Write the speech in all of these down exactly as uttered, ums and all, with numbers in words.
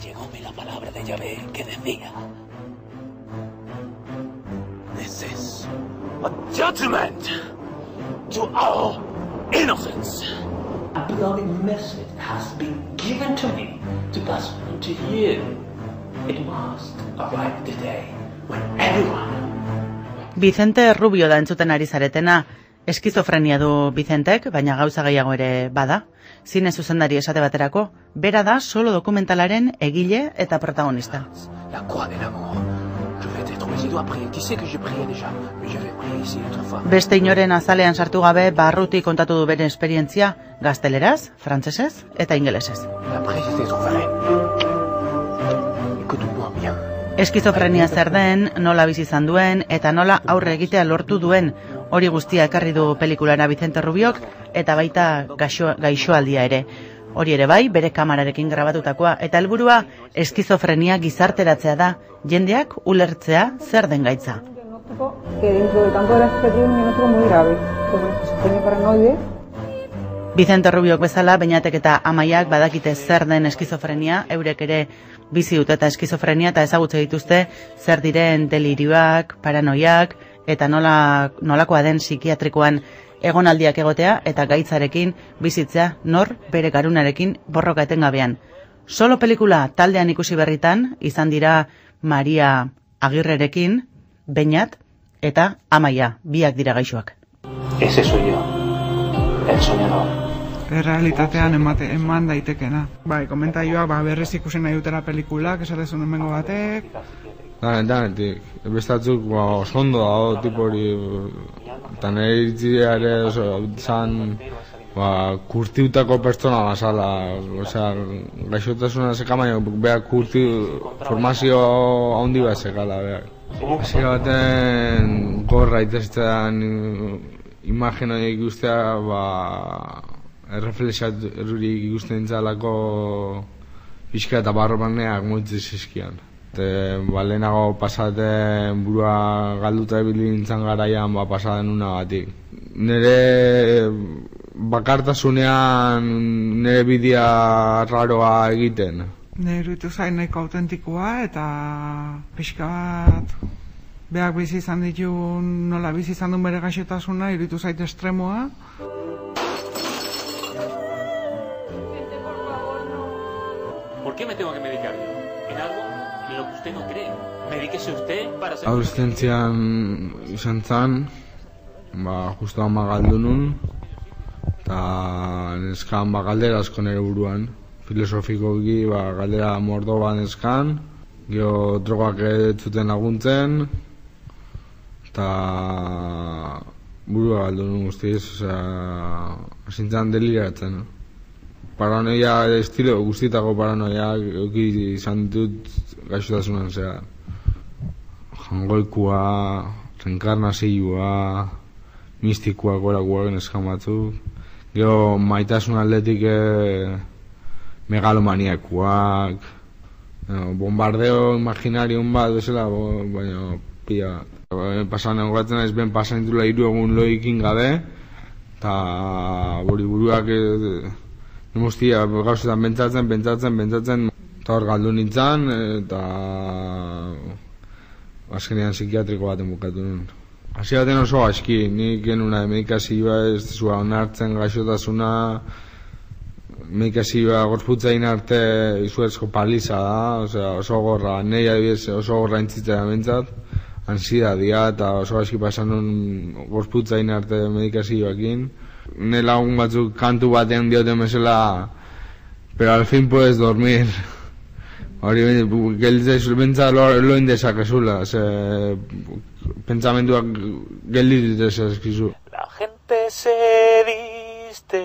llegóme la palabra de Yahvé que decía: This is a judgment to our innocence. A beloved message has been given to me to pass on to you. It must arrive today when everyone... Vicente Rubio da entzuten ari zaretena. Eskizofrenia du Vicentek, baina gauza gehiago ere bada. Zine zuzendari esate baterako, bera da solo dokumentalaren egile eta protagonista. La croix de l'amour. Je vais te trouver, je dois prier. Tu sais que je priais déjà, mais je vais prier ici autrefois. Beste inoren azalean sartu gabe, barruti kontatu du bere esperientzia, gazteleraz, frantsesez eta ingelesez. Après je te trouverai. Écoute-moi bien. Eskizofrenia zer den, nola bizi izan duen eta nola aurre egitea lortu duen, hori guztia ekarri du pelikulara Vicente Rubiok eta baita gaixo, gaixoaldia ere. Hori ere bai, bere kamerarekin grabatutakoa eta helburua eskizofrenia gizarteratzea da, jendeak ulertzea zer den gaitza. Vicente Rubiok bezala, Beñatek eta Amaiak badakite zer den eskizofrenia, eurek ere bizi dute eta eskizofrenia eta ezagutze dituzte zer diren delirioak, paranoiak eta nola, nolakoa den psikiatrikoan egonaldiak egotea eta gaitzarekin bizitzea nor bere garunarekin borroka etengabean. Solo pelikula taldean ikusi berritan izan dira Maria Agirrerekin, Beñat eta Amaia, biak dira gaixoak. Ese soy yo, el soñador. Errealitatean emate, eman daitekena. Bai, komentaioak ba, berrez ikusen nahi dutela pelikulak, esatezun emengo batek. Danet, danetik. Bestatzuk ba, osondo dago, tipo hori, eta nire iritzia ere zan ba, kurtiutako pertsona basala. Osea, gaixotasuna zeka, baina behar kurti formazio handi bat zekala. Hasiera baten gorra itestean imaginoiek ikustea, ba, erreflexaturik ikusten entzalako pixka eta barromaneak moitze zizkian. Ba, lehenago pasaten burua galduta ebili nintzen garaian ba, pasaten una batik. Nire bakartasunean nire bidea raroa egiten. Nire iruditu zain nahiko autentikoa eta pixka bat beak bizi izan ditu nola bizi izan duen bere gaixotasuna, iruditu zait estremoa. ¿Por qué me tengo que medicar yo? En algo en lo que usted no cree. Medíquese usted para ser... Adolescentzian izan zan, ba, justo ama galdu nun, eta neskan ba, galdera asko nire buruan. Filosofikoki ba, galdera mordo ba neskan, gero drogak ez zuten laguntzen, eta burua galdu nun guztiz, osea, asintzan deliratzen. Paranoia estilo guztietako paranoia euki izan ditut gaixotasunan zea. Jangoikua, reenkarnazioa, mistikoa gorakoak neskan batzuk. Gero maitasun atletik megalomaniakoak, bombardeo imaginarion bat bezala, baina pila. Pasan egoratzen naiz ben pasan ditula hiru egun loikin gabe, eta bori buruak Nemostia, gauzetan bentsatzen, bentsatzen, bentsatzen, eta hor galdu nintzen, eta azkenean psikiatriko baten bukatu nuen. Hasi baten oso aski, nik genuna medikazioa ez zua onartzen gaixotasuna, medikazioa gorputzain arte izuezko paliza da, osea, oso gorra, nahi adibidez oso gorra entzitzea bentsat, ansidadia eta oso aski pasan nuen gorputzain arte medikazioakin. Ne lagun batzuk kantu batean dioten bezala, pero al fin puedes dormir. Hori gelditzaizu, bentsa lo indezakezula, ze pentsamenduak gelditzaizu eskizu. La gente se viste,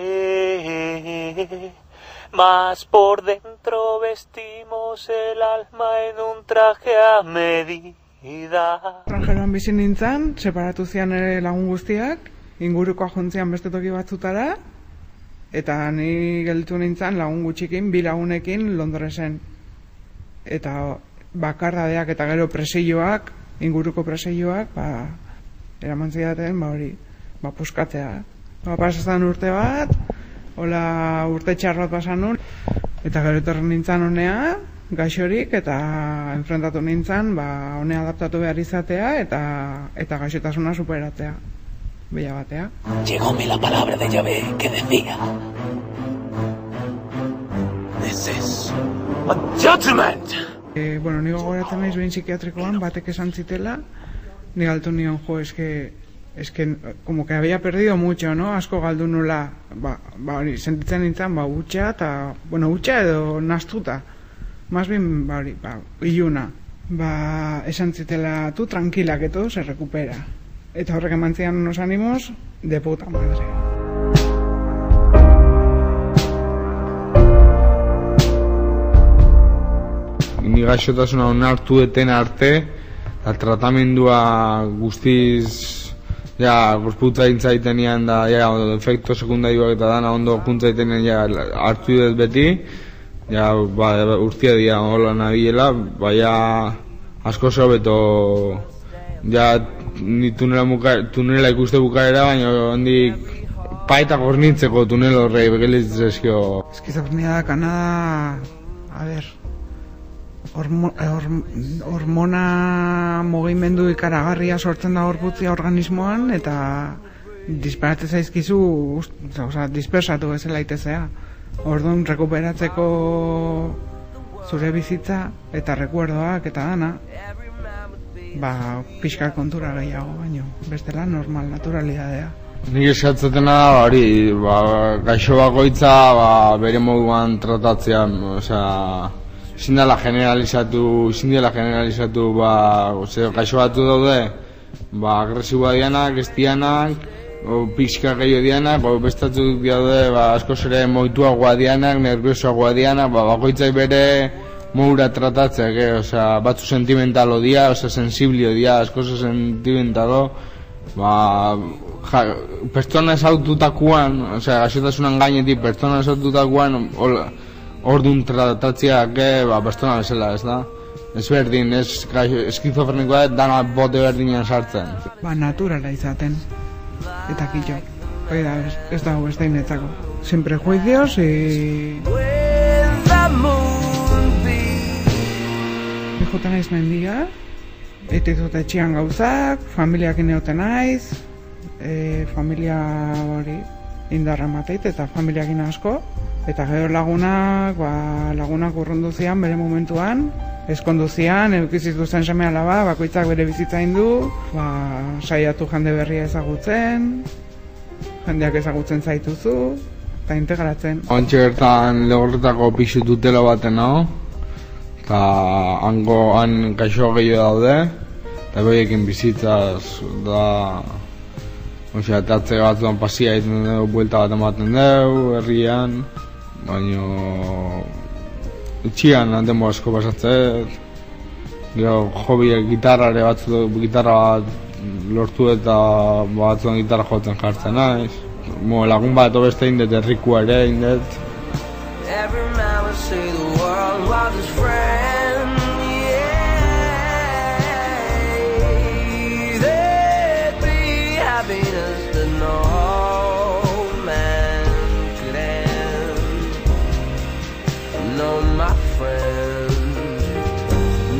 mas por dentro vestimos el alma en un traje a medida. Estranjeroan bizi nintzen, separatu zian ere lagun guztiak, ingurukoa jontzian beste toki batzutara, eta ni gelditu nintzen lagun gutxikin, bi lagunekin Londresen. Eta bakardadeak eta gero presioak, inguruko presioak, ba, eraman zidaten, ba hori, ba puskatzea. Ba, pasazan urte bat, hola urte txar bat pasan nun, eta gero etorren nintzen honea, gaixorik eta enfrentatu nintzen, ba, hone adaptatu behar izatea eta eta gaixotasuna superatzea, bila batea. Llegóme la palabra de Yahvé que decía: This is a judgment. E, bueno, nigo goratzen naiz behin psikiatrikoan, batek esan zitela, ni galtu nion, jo, eske, eske, como que había perdido mucho, no? Asko galdu nula, ba, ba, hori, sentitzen nintzen, ba, utxa, eta, bueno, utxa edo nastuta. Más bien, ba, hori, ba, iluna. Ba, esan zitela, tu tranquila, que todo se recupera. Eta horrek eman zian unos ánimos de puta madre. Ni gaixotasuna onartu eten arte, eta tratamendua guztiz, ja, gorputza intzaitenean da, ja, efekto sekundarioak eta dana ondo kuntzaitenean, ja, hartu dut beti, ja, ba, urtia dira hola nabiela, baina asko sobeto, ja, ni tunela, muka, tunela ikuste bukaera, baina handik paeta gornintzeko tunel horrei begelitzezkio. Eskizofrenia da Kanada, a ber, hormo, horm, hormona mugimendu ikaragarria sortzen da gorputzia organismoan, eta disparatze zaizkizu, oza, dispersatu bezala itezea. Orduan, rekuperatzeko zure bizitza eta rekuerdoak eta dana, ba, pixka kontura gehiago baino, bestela normal, naturalidadea. Nik eskatzatena da, hori, ba, gaixo bakoitza, ba, bere moduan tratatzean, osea, ezin dela generalizatu, ezin dela generalizatu, ba, ose, gaixo batu daude, ba, agresiboa dianak, ez dianak, o pixka gehiago dianak, o bestatzuk daude, ba, askoz ere moituagoa dianak, nerviosoagoa dianak, ba, bakoitzai bere moura tratatzeak, eh? Osea, batzu sentimentalo dia, osea, sensiblio dia, askoz sentimentalo, ba, ja, pertsona esaututakuan, osea, gaixotasunan gainetik, pertsona esaututakuan, orduan tratatzeak, eh, ba, pertsona bezala, ez da? Ez berdin, ez eskizofrenikoa, dana bote berdinean sartzen. Ba, naturala izaten. Eta kitxo, hori da, ez, ez dago ez da inetzako. Sin prejuicios y... Jota naiz mendia, eitizut etxian gauzak, familiak ineoten naiz, e, familia hori indarra mateit eta familiak asko, eta gero lagunak, ba, lagunak urrundu zian bere momentuan, eskondu zian, eukiziz duzen seme alaba, bakoitzak bere bizitza indu, ba, saiatu jende berria ezagutzen, jendeak ezagutzen zaituzu, eta integratzen. Ontxe bertan legorretako pixu dutela baten hau, eta hango han gaixo gehiago daude, eta behiekin bizitzaz da, osea, etatze batzuan pasia egiten dugu, buelta bat ematen dugu, herrian, baina etxian demo asko pasatzet, gero hobiek gitarrare batzu, gitarra bat lortu eta batzuan gitarra jotzen jartzen naiz. Mo, lagun bat obeste indet, errikua ere indet.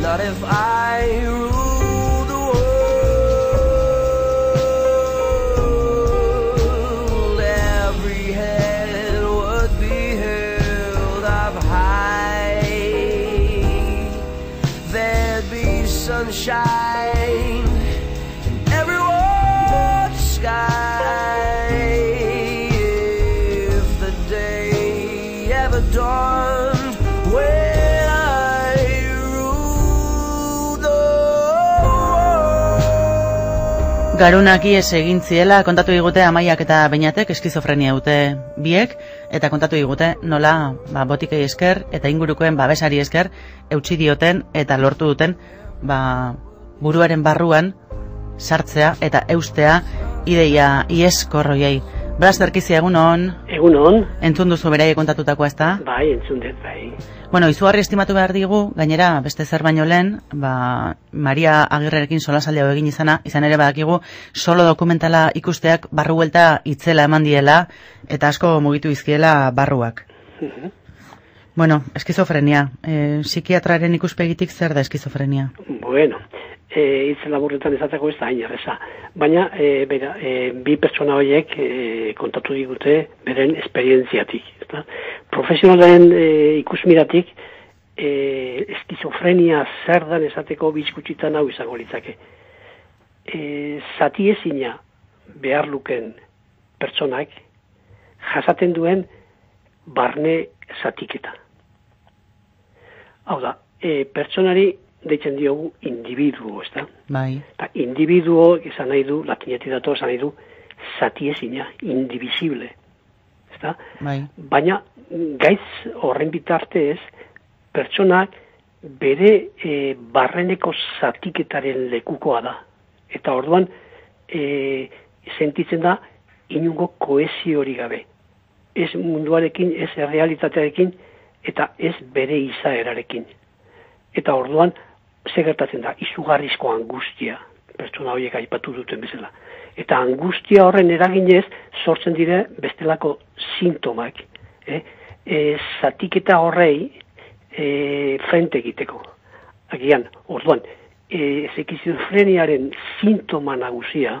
Not if I rule the world, every head would be held up high. There'd be sunshine in every warm sky if the day ever dawned when Garunak ies egin ziela kontatu digute Amaiak eta Beñatek eskizofrenia dute biek, eta kontatu digute nola ba, botikei esker eta ingurukoen babesari esker eutsi dioten eta lortu duten ba, buruaren barruan sartzea eta eustea ideia ieskorroiei. Blas Terkizia, egun hon? Egun hon. Entzun duzu beraiek kontatutako ez da? Bai, entzun dut, bai. Bueno, izugarri estimatu behar digu, gainera beste zer baino lehen, ba, Maria Agirrerekin solasaldi hau egin izana, izan ere badakigu solo dokumentala ikusteak barru buelta itzela eman diela, eta asko mugitu izkiela barruak. Bueno, eskizofrenia. E, psikiatraren ikuspegitik zer da eskizofrenia? Bueno, e, hitz laburretan esateko ez da hain erreza. Baina, e, bera, e, bi pertsona horiek e, kontatu digute beren esperientziatik. Ezta? Profesionalen e, ikusmiratik, e, eskizofrenia zer dan esateko bizkutsitan hau izango litzake. E, zati ezina behar luken pertsonak jasaten duen barne zatiketa. Hau da, e, pertsonari deitzen diogu individuo, ez da? Bai. Ta individuo, izan nahi du, latinetik dator, izan nahi du, zati ezina, indivisible, ez da? Bai. Baina, gaitz horren bitartez, pertsonak bere e, barreneko zatiketaren lekukoa da. Eta orduan, e, sentitzen da, inungo kohesio hori gabe. Ez munduarekin, ez errealitatearekin, eta ez bere izaerarekin. Eta orduan, ze gertatzen da, izugarrizko angustia, pertsona horiek aipatu duten bezala. Eta angustia horren eraginez, sortzen dire bestelako sintomak. Eh? E, zatiketa horrei e, frente egiteko. Agian, orduan, e, eskizofreniaren sintoma nagusia,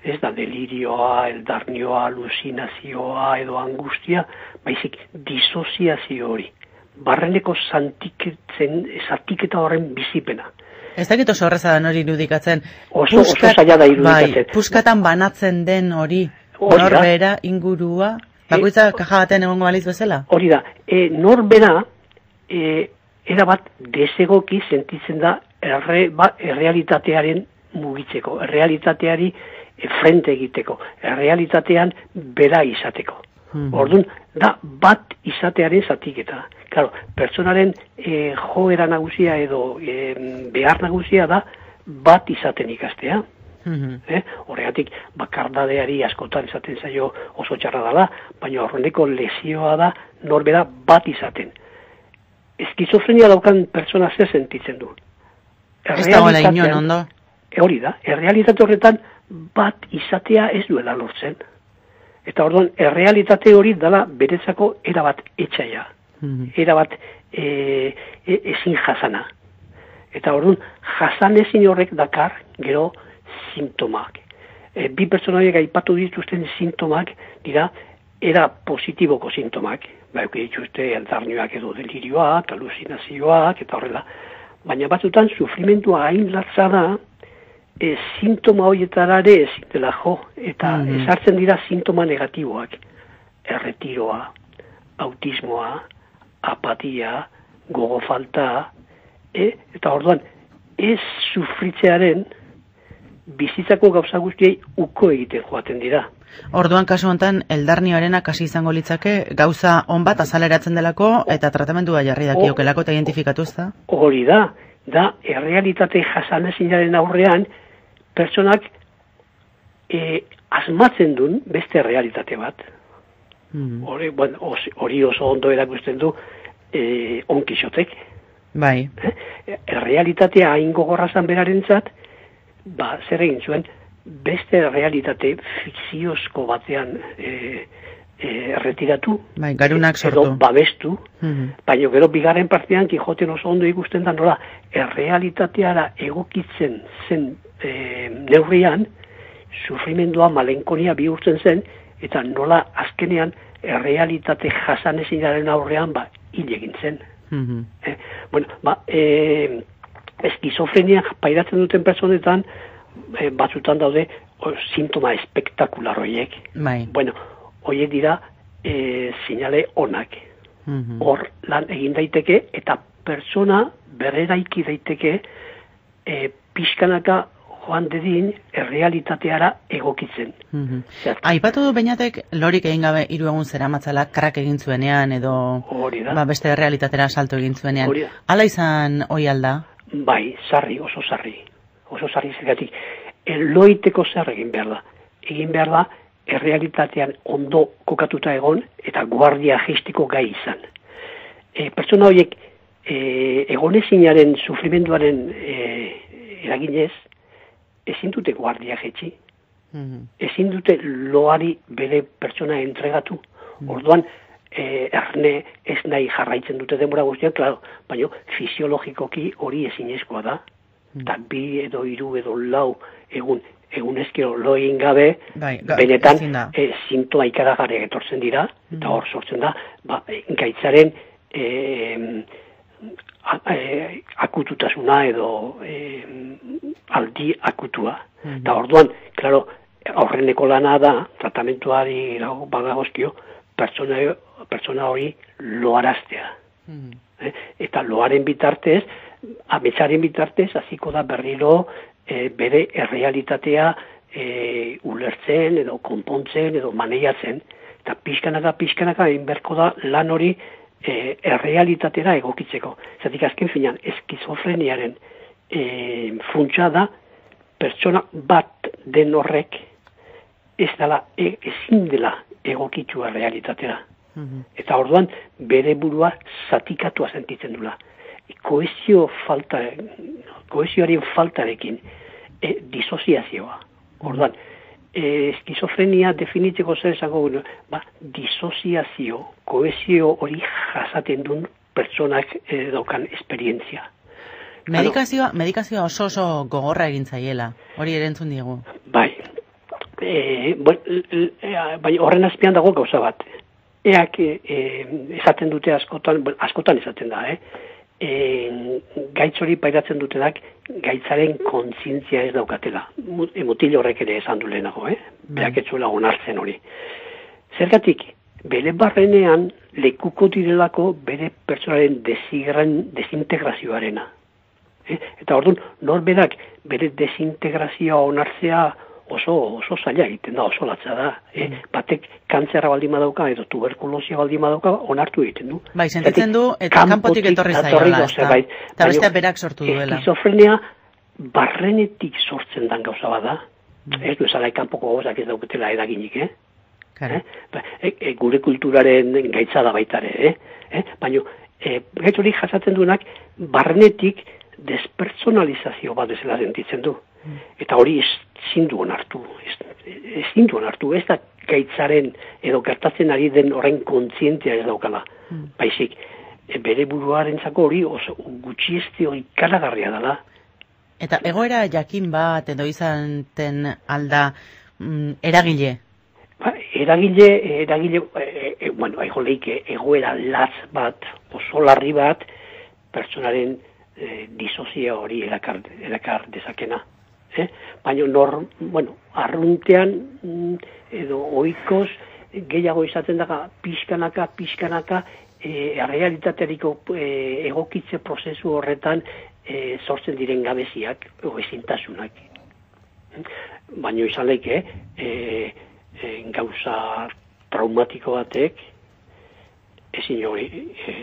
ez da delirioa, eldarnioa, alusinazioa edo angustia, baizik disoziazio hori. Barreneko zatiketa horren bizipena. Ez dakit oso horreza da hori irudikatzen. Oso, oso zaila da irudikatzen. Bai, puskatan banatzen den hori, Hori da. norbera, ingurua, bakoitza kaja baten egongo baliz bezala? Hori da, e, norbera, e, erabat desegoki sentitzen da erre, ba, errealitatearen mugitzeko, errealitateari e, frente egiteko, errealitatean bera izateko. Hmm. Orduan, da bat izatearen zatiketa. Claro, pertsonaren e, joera nagusia edo e, behar nagusia da bat izaten ikastea. Mm-hmm. Eh? Horregatik, bakardadeari askotan izaten zaio oso txarra dela, baina horreneko lesioa da norbera bat izaten. Eskizofrenia daukan pertsona zer sentitzen du. Ez dagoela inon ondo. E, hori da, errealitate horretan bat izatea ez duela lortzen. Eta orduan, errealitate hori dela beretzako erabat etxaia. Mm-hmm. Erabat e, e, ezin jasana. Eta orduan, jasan ezin horrek dakar gero sintomak. E, bi pertsonaiek aipatu dituzten sintomak dira era positiboko sintomak. Baina dituzte eldarnioak edo delirioak, alusinazioak eta horrela. Baina batzutan sufrimentua hain latza da, E, sintoma horietarare ezin dela jo, eta mm-hmm. esartzen dira sintoma negatiboak. Erretiroa, autismoa, apatia, gogo falta, e, eta orduan, ez sufritzearen bizitzako gauza guztiei uko egiten joaten dira. Orduan, kasu honetan, eldarnioarena kasi izango litzake, gauza on bat azaleratzen delako, eta tratamendua jarri dakiokelako eta identifikatu ez da? Hori da, da, errealitate jasanezinaren aurrean, pertsonak e, asmatzen duen beste realitate bat. Mm. Hori, bueno, hori oso ondo erakusten du e, On Kixotek. Bai. Eh? Realitatea hain gogorrazan berarentzat, ba, zer egin zuen, beste realitate fikziozko batean e, e, erretiratu. Bai, garunak sortu. Edo babestu. Mm-hmm. Baina gero bigarren partean Kijoten oso ondo ikusten da nola errealitateara egokitzen zen E, neurrian, sufrimendua malenkonia bihurtzen zen, eta nola azkenean errealitate jasanezinaren aurrean ba, hil egin zen. Mm-hmm. eh, bueno, ba, e, eskizofrenia pairatzen duten personetan, e, batzutan daude o, sintoma espektakular horiek. Bai. Bueno, horiek dira e, sinale onak. Mm-hmm. Hor lan egin daiteke, eta persona berreraiki daiteke e, pixkanaka joan dedin errealitateara egokitzen. Mm-hmm. Aipatu du Beñatek lorik egin gabe hiru egun zeramatzala krak egin zuenean edo ba, beste errealitatera salto egin zuenean. Hala izan hoi alda? Bai, sarri, oso sarri. Oso sarri zergatik. Loiteko zer egin behar da. Egin behar da errealitatean ondo kokatuta egon eta guardia gestiko gai izan. E, pertsona horiek e, egonezinaren sufrimenduaren e, eraginez, ezin dute guardia jetxi, mm-hmm. ezin dute loari bere pertsona entregatu. Mm-hmm. Orduan, e, erne ez nahi jarraitzen dute denbora guztian, klaro, baina fisiologikoki hori ezinezkoa da, eta bi edo hiru edo lau egun egun ezkero lo egin gabe, bai, ga, benetan e, sintoa ikaragarriak etortzen dira, mm. eta hor sortzen da, ba, gaitzaren e, a, e, akututasuna edo e, aldi akutua. Mm. Eta orduan, klaro, aurreneko lana da, tratamentuari bagagozkio, pertsona, pertsona hori loaraztea. Mm. Eh? Eta loaren bitartez, ametsaren bitartez, hasiko da berriro e, bere errealitatea e, ulertzen edo konpontzen edo maneiatzen. Eta pixkanaka, pixkanaka, egin berko da lan hori e, errealitatera egokitzeko. Zatik azken finan, eskizofreniaren e, funtsa da, pertsona bat den horrek ez dela, e, ezin dela egokitua realitatera. Mm-hmm. Eta orduan bere burua zatikatua sentitzen dula. Kohesio falta, kohesioaren faltarekin e, disoziazioa. Orduan, e, eskizofrenia definitzeko zer esango, ba, disoziazio, kohesio hori jasaten duen pertsonak e, daukan esperientzia. Medikazioa, medikazioa oso oso gogorra egin zaiela, hori erentzun diegu. Bai, e, bon, e, bai horren azpian dago gauza bat. Eak e, esaten dute askotan, bon, askotan esaten da, eh? E, gaitz hori pairatzen dutenak gaitzaren kontzientzia ez daukatela. Mutil horrek ere esan du lehenago, eh? Beak etzuela onartzen hori. Zergatik, bere barrenean lekuko direlako bere pertsonaren desintegrazioarena. Eh? Eta orduan, norberak bere desintegrazioa onartzea oso oso zaila egiten da, oso latza da. Eh? Mm. Batek kantzerra baldin badauka edo tuberkulosia baldin badauka onartu egiten du. Bai, sentitzen du, eta kanpotik etorri zaiola. Eta beste berak sortu duela. Eskizofrenia barrenetik sortzen dan gauza bada. Mm. Ez du esala kanpoko gozak ez dauketela edaginik, eh? Eh? E, e, gure kulturaren gaitza da baitare, eh? Eh? Baina, e, gaitz hori jasatzen duenak barrenetik despersonalizazio bat ezela sentitzen du. Eta hori ezin du onartu, ezin du onartu, ez da gaitzaren edo gertatzen ari den horren kontzientzia ez daukala. Mm. Baizik, e, bere buruarentzako hori oso gutxiesti hori ikaragarria dela. Eta egoera jakin bat edo izanten alda mm, eragile? Ba, eragile, eragile, e, e, bueno, aigo leike, egoera latz bat, oso larri bat, pertsonaren e, disozia hori erakar, erakar dezakena. Eh? Baina nor, bueno, arruntean edo oikoz gehiago izaten daga pixkanaka, pixkanaka e, realitateriko e, egokitze prozesu horretan e, sortzen diren gabeziak o ezintasunak. Baina izan leike e, e, gauza traumatiko batek ezin hori e,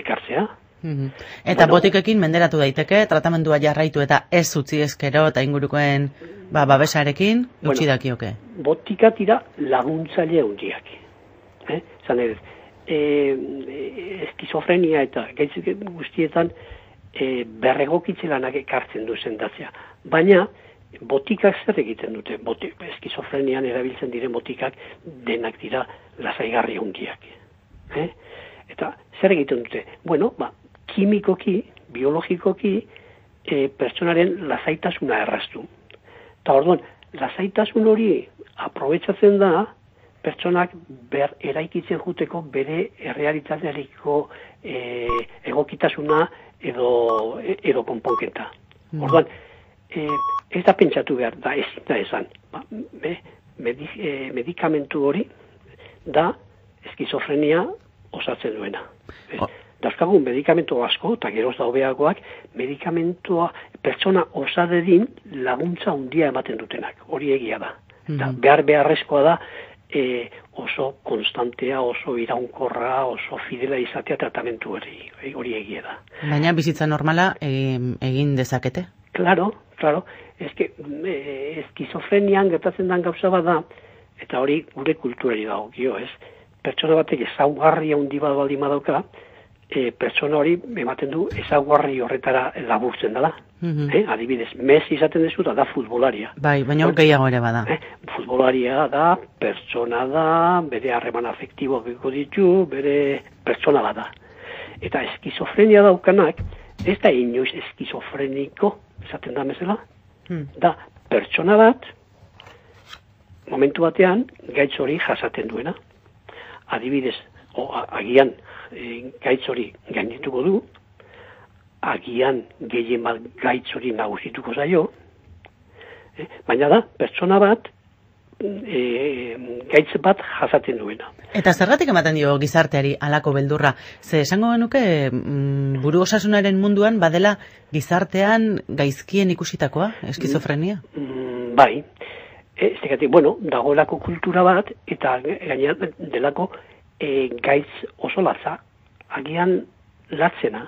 ekartzea. Mm-hmm. Eta bueno, botikekin menderatu daiteke, tratamendua jarraitu eta ez utzi ezkero eta ingurukoen ba, babesarekin utzi bueno, dakioke. Botika tira laguntzaile hundiak. Eh? Zan edo, e, eskizofrenia eta gaitzik guztietan e, berregokitze lanak ekartzen du sendatzea. Baina, botikak zer egiten dute? Botik, eskizofrenian erabiltzen diren botikak denak dira lasaigarri hundiak. Eh? Eta zer egiten dute? Bueno, ba, kimikoki, biologikoki, e, pertsonaren lasaitasuna erraztu. Eta orduan, lasaitasun hori aprobetsatzen da, pertsonak ber eraikitzen juteko bere errealitateariko e, egokitasuna edo, edo konponketa. Mm. Orduan, e, ez da pentsatu behar, da ezin da esan. Ba, be, medi, e, medikamentu hori da eskizofrenia osatzen duena. Oh. Dauzkagun medikamentu asko, eta geroz da hobeagoak, medikamentua pertsona osadedin laguntza handia ematen dutenak. Hori egia da. Mm-hmm. Behar beharrezkoa da e, oso konstantea, oso iraunkorra, oso fidela izatea tratamentu hori, hori egia da. Baina bizitza normala egin, egin dezakete? Claro, claro. Eske, e, eskizofrenian gertatzen den gauza bat da, eta hori gure kulturari dago, ez? Pertsona batek ezaugarria handi bat baldin badauka, e, pertsona hori ematen du ezaugarri horretara laburtzen dela. Mhm. Eh? Adibidez, Messi izaten dezu da futbolaria. Bai, baina gehiago ere bada. Eh? Futbolaria da, pertsona da, bere harreman afektiboak ditu, bere pertsona bat da. Eta eskizofrenia daukanak, ez da inoiz eskizofreniko, esaten da mesela, Hmm. da pertsona bat, momentu batean, gaitz hori jasaten duena. Adibidez, o, a, agian e, gaitz hori gaindituko du, agian gehien bat gaitz hori nagusituko zaio, eh? Baina da, pertsona bat, e, gaitz bat jasaten duena. Eta zergatik ematen dio gizarteari halako beldurra? Ze esango genuke mm, buru osasunaren munduan badela gizartean gaizkien ikusitakoa, eskizofrenia? Mm, bai, ez dekatik, bueno, dagoelako kultura bat, eta gainera delako e, gaitz oso latza, agian latzena.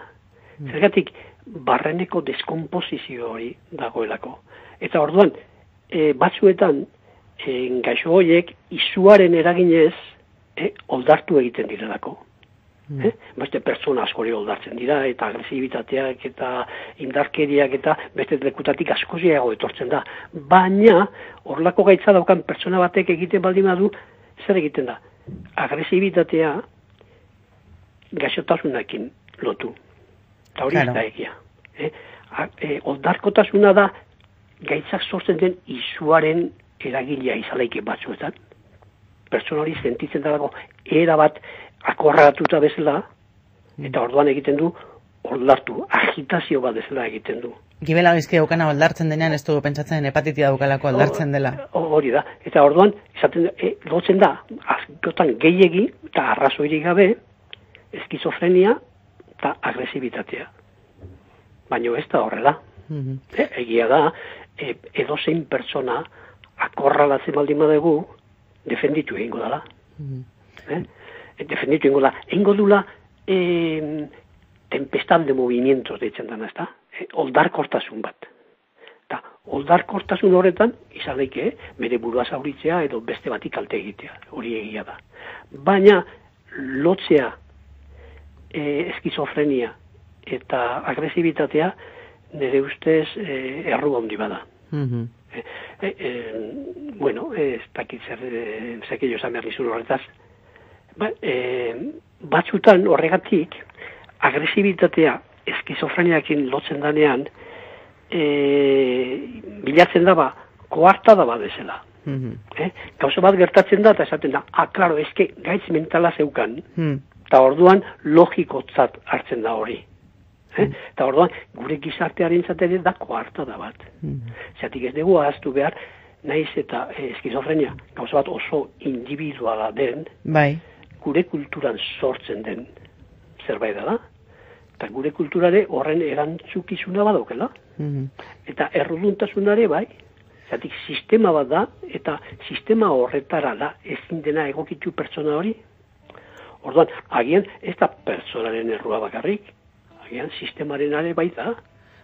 Mm. Zergatik, barreneko deskomposizio hori dagoelako. Eta orduan, e, batzuetan, e, gaixo horiek izuaren eraginez, e, oldartu egiten direlako. Mm. Eh? Beste pertsona askori oldartzen dira, eta agresibitateak, eta indarkeriak, eta beste lekutatik askoziago etortzen da. Baina, horlako gaitza daukan pertsona batek egiten baldin badu, zer egiten da? Agresibitatea gaixotasunakin lotu. Eta hori Claro. ez da egia. Eh? A, e, oldarkotasuna da gaitzak sortzen den izuaren eragilea izaleike batzuetan. Pertsona hori sentitzen dago era bat akorratuta bezala, eta orduan egiten du oldartu, agitazio bat bezala egiten du. Gibela gaizki daukana oldartzen denean ez du pentsatzen hepatitia daukalako oldartzen dela. Hori da. Eta orduan, esaten, e, lotzen da, askotan gehiegi eta arrazoirik gabe, eskizofrenia eta agresibitatea. Baina ez da horrela. Mhm. E, egia da, e, edozein pertsona akorralatzen baldin badugu, defenditu egingo dela. Mhm. Eh? Defenditu egingo da. Egingo dula eh, tempestad de movimientos deitzen dana, ezta? Eh, oldarkortasun bat. Eta oldarkortasun horretan, izan daike, eh? bere burua zauritzea edo beste bati kalte egitea. Hori egia da. Baina, lotzea eh, eskizofrenia eta agresibitatea nire ustez eh, erru handi bada. Mhm. Eh, eh, eh, bueno, ez dakit zer, eh, zekillo esan behar nizun horretaz. Ba, eh, batzutan horregatik, agresibitatea eskizofreniakin lotzen danean, eh, bilatzen daba, koarta daba bezala. Mhm. Eh? Gauza bat gertatzen da, eta esaten da, ah, klaro, eske gaitz mentala zeukan, Mhm. eta orduan logikotzat hartzen da hori. Eh? Eta orduan, gure gizartearen zatera da koarta da bat. Mhm. Zatik ez dugu ahaztu behar, naiz eta eh, eskizofrenia, gauza bat oso individuala den, Bai. gure kulturan sortzen den zerbait da, eta gure kulturare horren erantzukizuna badaukela. Mhm. Eta erruduntasunare bai, zatik sistema bat da, eta sistema horretara da ezin dena egokitu pertsona hori. Orduan, agian ez da pertsonaren errua bakarrik, agian sistemaren are baita.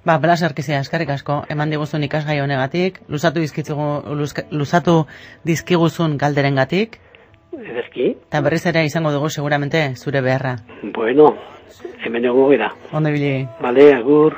Ba, Blas Arkizia, eskarrik asko, eman diguzun ikasgai honegatik, luzatu dizkitzugu, luzka- luzatu dizkiguzun galderengatik, Ederki, eta berriz ere izango dugu seguramente zure beharra. bueno, hemen egongo gara. Ondo ibili. Bale, agur.